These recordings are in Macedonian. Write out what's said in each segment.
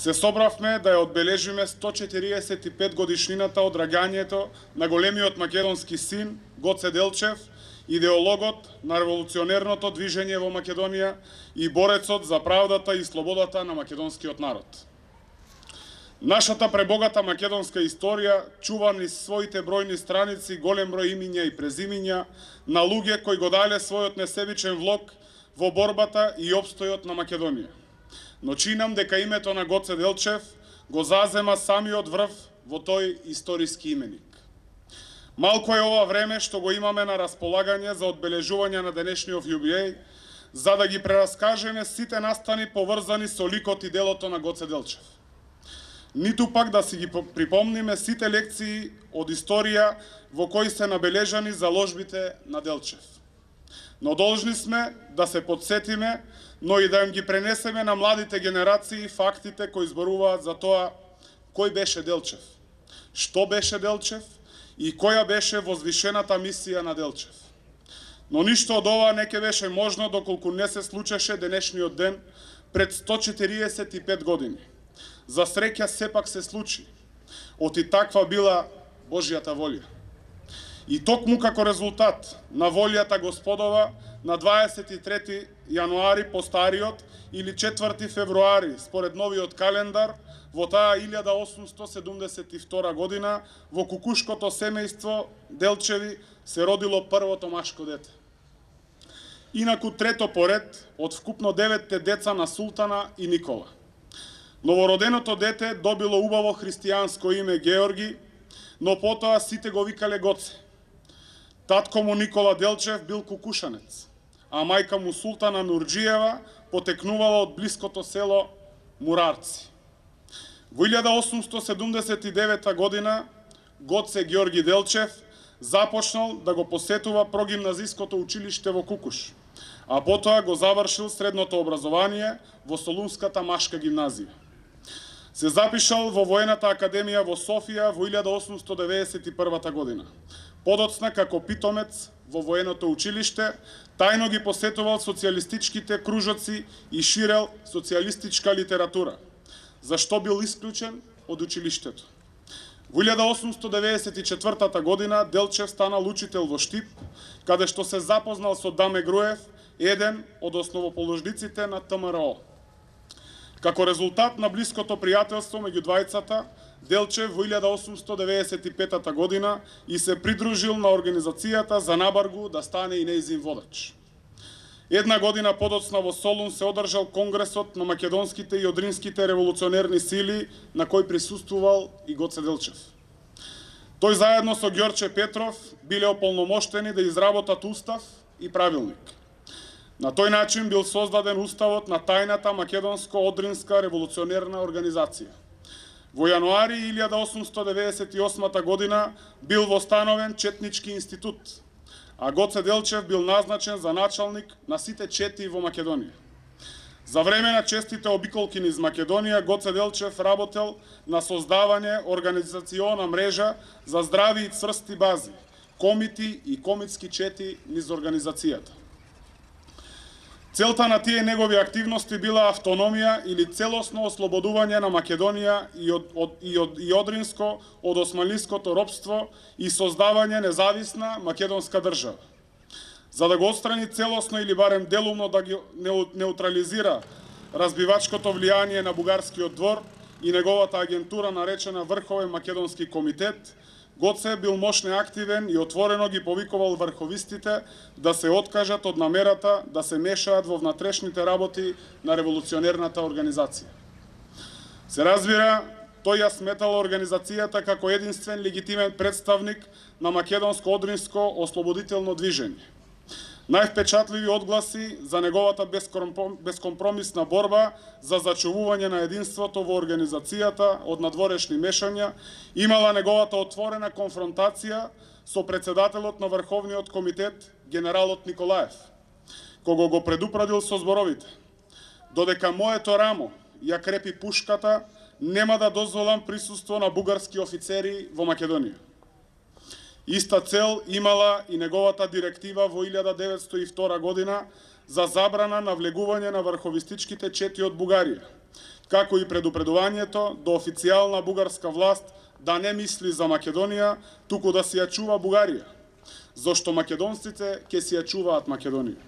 се собравме да ја одбележиме 145 годишнината од раѓањето на големиот македонски син Гоце Делчев, идеологот на револуционерното движење во Македонија и борецот за правдата и слободата на македонскиот народ. Нашата пребогата македонска историја чува низ своите бројни страници голем број имиња и презимиња на луѓе кои го дале својот несебичен влог во борбата и опстојот на Македонија. Но чинам дека името на Гоце Делчев го зазема самиот врв во тој историски именик. Малко е ова време што го имаме на располагање за одбележување на денешниот јубилеј, за да ги прераскажеме сите настани поврзани со ликот и делото на Гоце Делчев. Ниту пак да си ги припомниме сите лекции од историја во кои се набележани заложбите на Делчев. Но должни сме да се подсетиме, но и да им ги пренесеме на младите генерации фактите кои зборуваат за тоа кој беше Делчев, што беше Делчев и која беше возвишената мисија на Делчев. Но ништо од ова не ќе беше можно доколку не се случеше денешниот ден пред 145 години. За среќа сепак се случи. Оти таква била Божјата волја. И токму како резултат на волјата Господова на 23 јануари по стариот или 4 февруари според новиот календар во таа 1872 година во кукушкото семејство Делчеви се родило првото машко дете. Инаку трето поред од вкупно 9 деца на Султана и Никола. Новороденото дете добило убаво христијанско име Георги, но потоа сите го викале Гоце. Татко му Никола Делчев бил кукушанец, а мајка му Султана Нурџиева потекнувала од блиското село Мурарци. Во 1879 година Гоце Георги Делчев започнал да го посетува прогимназиското училиште во Кукуш, а потоа го завршил средното образование во Солунската машка гимназија. Се запишал во Воената академија во Софија во 1891 година. Подоцна како питомец во военото училиште, тајно ги посетувал социјалистичките кружоци и ширел социјалистичка литература, за што бил исклучен од училиштето. Во 1894 година Делчев станал учител во Штип, каде што се запознал со Даме Груев, еден од основоположниците на ТМРО. Како резултат на блиското пријателство меѓу двајцата, Делчев во 1895 година и се придружил на организацијата за набаргу да стане и нејзин водач. Една година подоцна во Солун се одржал Конгресот на македонските и одринските револуционерни сили, на кој присуствувал и Гоце Делчев. Тој заедно со Ѓорче Петров биле ополномоштени да изработат устав и правилник. На тој начин бил создаден уставот на тајната македонско-одринска револуционерна организација. Во јануари 1898 година бил востановен Четнички институт, а Гоце Делчев бил назначен за началник на сите чети во Македонија. За време на честите обиколки низ Македонија, Гоце Делчев работел на создавање организациона мрежа за здрави и цврсти бази, комити и комитски чети низ организацијата. Целта на тие негови активности била автономија или целосно ослободување на Македонија и Одринско од османлиското робство и создавање независна македонска држава. За да го отстрани целосно или барем делумно да ги неутрализира разбивачкото влијание на бугарскиот двор и неговата агентура наречена Врховен македонски комитет, Гоце бил мощно активен и отворено ги повикувал врховистите да се откажат од намерата да се мешаат во внатрешните работи на револуционерната организација. Се разбира, тој ја сметал организацијата како единствен легитимен представник на македонско-одринско ослободително движење. Највпечатливи одгласи за неговата бескомпромисна борба за зачувување на единството во организацијата од надворешни мешања имала неговата отворена конфронтација со председателот на Врховниот комитет, генералот Николаев, кого го предупредил со зборовите: "Додека моето рамо ја крепи пушката, нема да дозволам присуство на бугарски офицери во Македонија." Иста цел имала и неговата директива во 1902 година за забрана на влегување на врховистичките чети од Бугарија, како и предупредувањето до официјална бугарска власт да не мисли за Македонија, туку да си ја чува Бугарија, зашто македонците ќе си ја чуваат Македонија.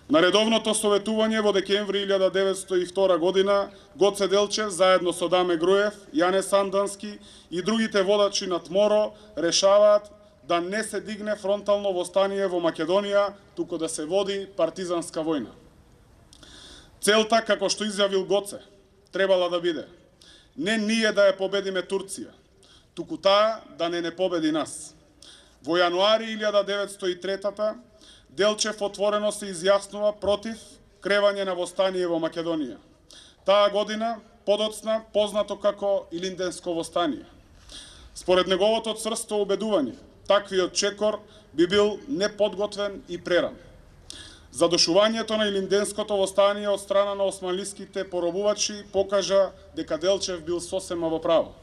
На редовното советување во декември 1902 година Гоце Делчев заедно со Даме Груев, Јане Сандански и другите водачи на ТМОРО решаваат да не се дигне фронтално востание во Македонија, туку да се води партизанска војна. Целта, како што изјавил Гоце, требала да биде не ние да ја победиме Турција, туку таа да не победи нас. Во јануари 1903 Делчев отворено се изјаснува против кревање на востание во Македонија. Таа година подоцна познато како Илинденско востание. Според неговото црсто убедување, таквиот чекор би бил неподготвен и преран. Задушувањето на Илинденското востание од страна на османлиските поробувачи покажа дека Делчев бил сосема во право.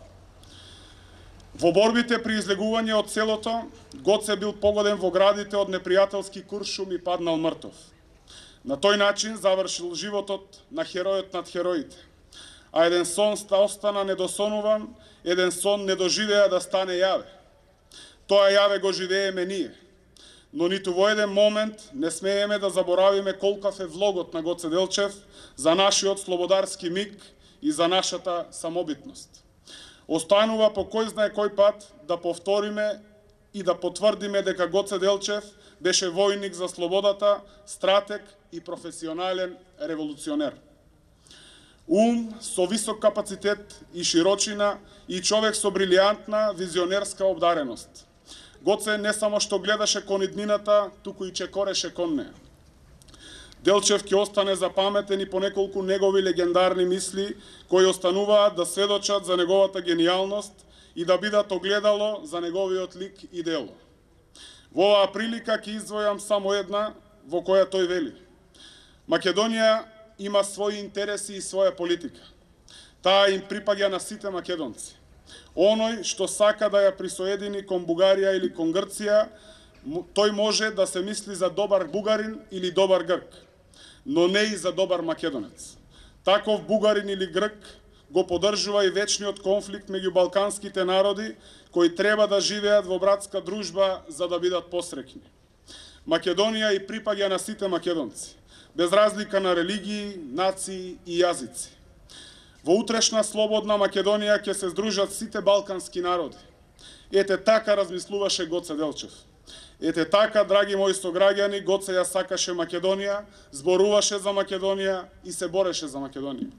Во борбите при излегување од селото, Гоце бил погоден во градите од непријателски куршум и паднал мртов. На тој начин завршил животот на херојот над хероите. А еден сон остана недосонуван, еден сон не доживеа да стане јаве. Тоа јаве го живееме ние. Но ниту во еден момент не смееме да заборавиме колкав е влогот на Гоце Делчев за нашиот слободарски миг и за нашата самобитност. Останува по кој знае кој пат да повториме и да потврдиме дека Гоце Делчев беше војник за слободата, стратег и професионален револуционер. Ум со висок капацитет и широчина и човек со брилијантна визионерска обдареност. Гоце не само што гледаше кон иднината, туку и чекореше кон неа. Делчев ќе остане запаметен и по неколку негови легендарни мисли, кои остануваат да сведочат за неговата генијалност и да бидат огледало за неговиот лик и дело. Во оваа прилика ќе издвојам само една во која тој вели: Македонија има своји интереси и своја политика. Таа им припаѓа на сите македонци. Оној што сака да ја присоедини кон Бугарија или кон Грција, тој може да се мисли за добар бугарин или добар грк, но не и за добар македонец. Таков бугарин или грк го поддржува и вечниот конфликт меѓу балканските народи, кои треба да живеат во братска дружба за да бидат посреќни. Македонија и припаѓа на сите македонци, без разлика на религии, нации и јазици. Во утрешна слободна Македонија ќе се здружат сите балкански народи. Ете така размислуваше Гоце Делчев. Ете така, драги мои сограѓани, Гоце ја сакаше Македонија, зборуваше за Македонија и се бореше за Македонија.